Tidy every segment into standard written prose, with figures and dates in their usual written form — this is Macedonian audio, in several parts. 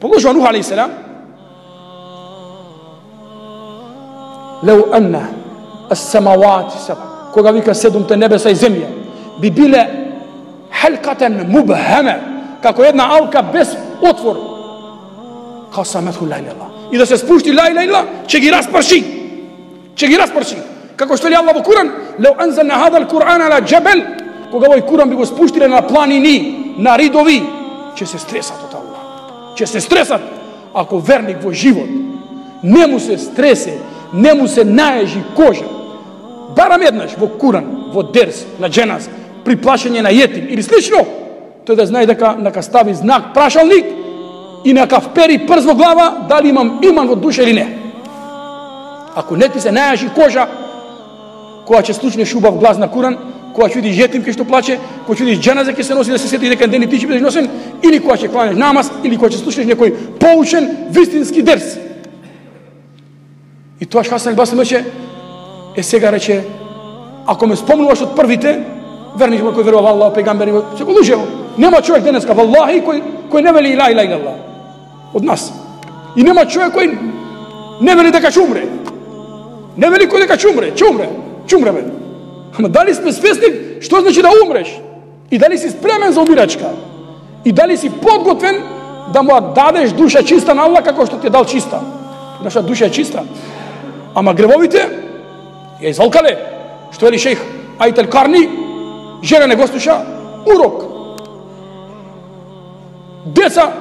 Продолжува Нух алейхиссалам. Леу анна as-samawati sab'a, кога вика седумте небеса и земја би биле халкатен мубхама, како една алка без отвор, касаметху ла илаха, и да се спушти ла илаха, ќе ги распрши. Ќе ги распрши. Како што ли Аллах во Куран, леу анзална хада ал-Кур'ан ала джабал, кога овој Куран би го спуштиле на планини, на ридови, ќе се стресат од Аллах. Ќе се стресат. Ако верник во живот не му се стресе, не му се наежи кожа, барам еднаш во Куран, во дерс, на дженаз, при плашење на јетим или слично, тој да знае дека нека стави знак прашалник и нека впери прз во глава дали имам иман во душа или не. Ако не ти се најажи кожа, кога ќе слушнеш убав глас на Куран, кога ќе видиш јетим кај што плаче, кога ќе видиш дженаза ќе се носи да се сети дека ден и ти ќе бидеш носен, или кога ќе кланеш намаз, или кога ќе слушнеш некој поучен вистински дерс. И тоа Хасан ал-Басри рече, сега рече, ако ме спомнуваш од првите, верник кој верува Аллах, пејгамбери, се го лужево. Нема човек денеска валлахи кој не вели ла илаха илlallah од нас. И нема човек кој не вели дека ќе умре. Не вели кој дека ќе умре, ќе умре бе. Ама дали сме свесни што значи да умреш? И дали си спремен за умирачка? И дали си подготвен да му дадеш душа чиста на Аллах како што ти дал чиста? Наша душа е чиста. Ама гревовите ја извалкале. Што вели шејх Ајтел Карни, жена не го слуша урок. Деца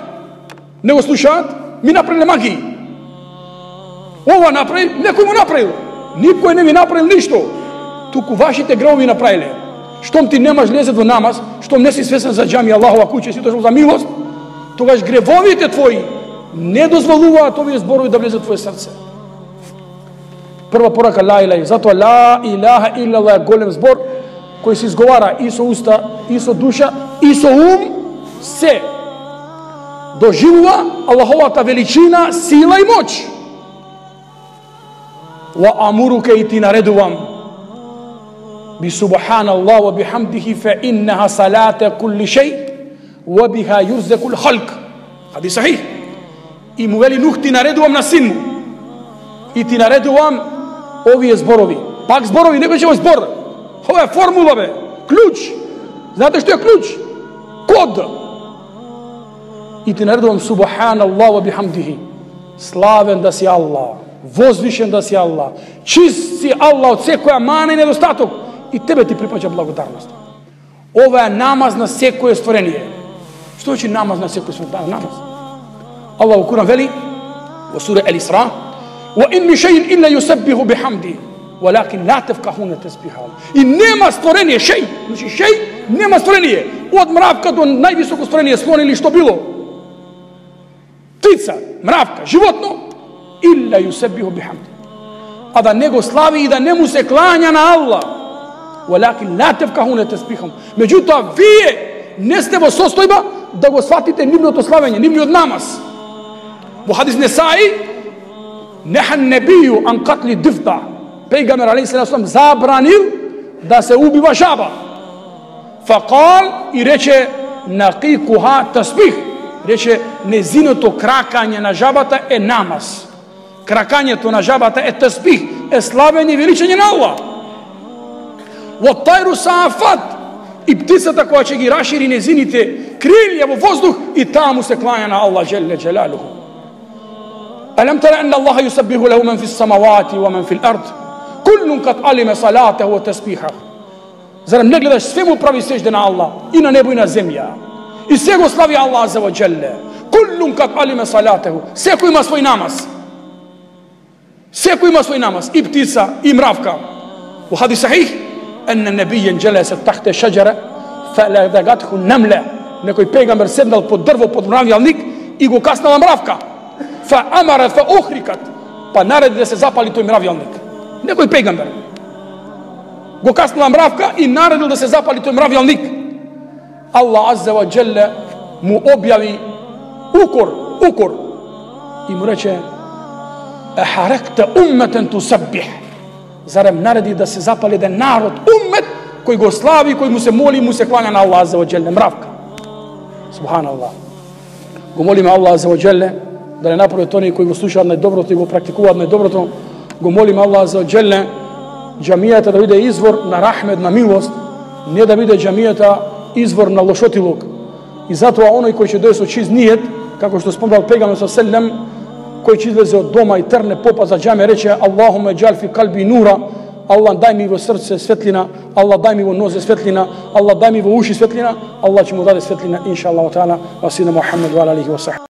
не го слушаат, ми направиле магии. Ова направи, некој му направил. Никој не ми направил ништо. Туку вашите гревови направиле. Штом ти немаш лезет во намаз, штом не си свесен за џами Аллахова куќа, си дошол за милост, тогаш гревовите твои не дозволуваат овие зборови да влезат во твое срце. Прва порака ла илаха, затоа ла илаха илlallah е голем збор кој се изговара и со уста, и со душа, и со ум, се доживува Аллаховата величина, сила и моќ. Ва амуруке, и ти наредувам би субханаллах ва бихамдихи фе иннаха салата кулли шеј ва биха юрзекул халк. Хадис сахих. И му вели Нух, ти наредувам на син му и ти наредувам овие зборови. Пак зборови, не беше овој збор. Ова е формула бе, клjuč. Знаете што е клjuč? Код. И ти наредувам субханаллах ва бихамдихи. Славен да си Аллах, возвишен да си Аллах, чист си Аллах од секоја мана и недостаток, и тебе ти припаѓа благодарност. Ова е намаз на секое створение. Што значи намаз на секое створение? Намаз. Аллах во Куран вели во сура Ал-Исра: "Ва ин ми шејин илла юсаббиху бихамди, валакин ла тафкахуна тасбихахум." И нема створение, шеј, значи шеј, нема створение, од мравка до највисоко створение, слон или што било. Птица, мравка, животно, илла юсаббиху бихамди. А да не го слави и да не му се клања на Аллах. Валакин ла тафкахуна тасбихахум. Меѓутоа вие не сте во состојба да го сватите нивното славење, нивниот намаз. Во хадис Несаи, нехан небiju ан катли дифта. Пејгамбер алейхиссалам забранил да се убива жаба. Факал, и рече нақикуха тасбих. Рече незиното кракање на жабата е намаз. Кракањето на жабата е тасбих, е славење и величање на Аллах. Во тајру саафат, и птицата која ќе ги рашири незините крилја во воздух, и таму се клања на Аллах джелле джелалуху. Алам тара анна Аллаха юсаббиху лаху ман фис самавати ва ман фил ард, куллун кад алима салатаху ва тасбихаху. Зарем не гледаш, све му прави сежде на Аллах, и на небо и на земја, и се го слави Аллах аза ва джелле. Куллун кад алима салатаху. Секој има свој намаз. Секој има свој намаз, и птица, и мравка. Во хадис сахих, анна набијен джелесе тахте шаџара фаладагатху намла. Некој пејгамбер седнал под дрво, под мравјалник, и го каснала мравка. Фа амара фа ухрикат, па нареди да се запали тој мравјалник. Некој пејгамбер го каснала мравка и наредил да се запали тој мравјалник. Аллах азза ва джелле му објави укор и му рече: ахаракта умметен тусаббих. Зарем нареди да се запали еден народ, уммет, кој го слави, кој му се моли, му се клања на Аллах азза ва джелле, мравка. Субханаллах. Го молиме Аллах азza wa jalla да не направи тони кои го слушаат најдоброто и го практикуваат најдоброто. Го молиме Аллах азza wa jalla џамијата да биде извор на рахмет, на милост, не да биде џамијата извор на лошотилок. И затоа оној кој ќе дојде со чист ниет, како што спомнал пегамберот селем, кој ќе излезе од дома и трне попа за џаме, рече Аллахуме џал фи калби нура, Аллах дај ми во срце светлина, Аллах дај ми во нозе светлина, Аллах дај ми во уши светлина, Аллах ќе му даде светлина иншааллаху таала. Ва сина Мухаммед ва алейхи ва сахб.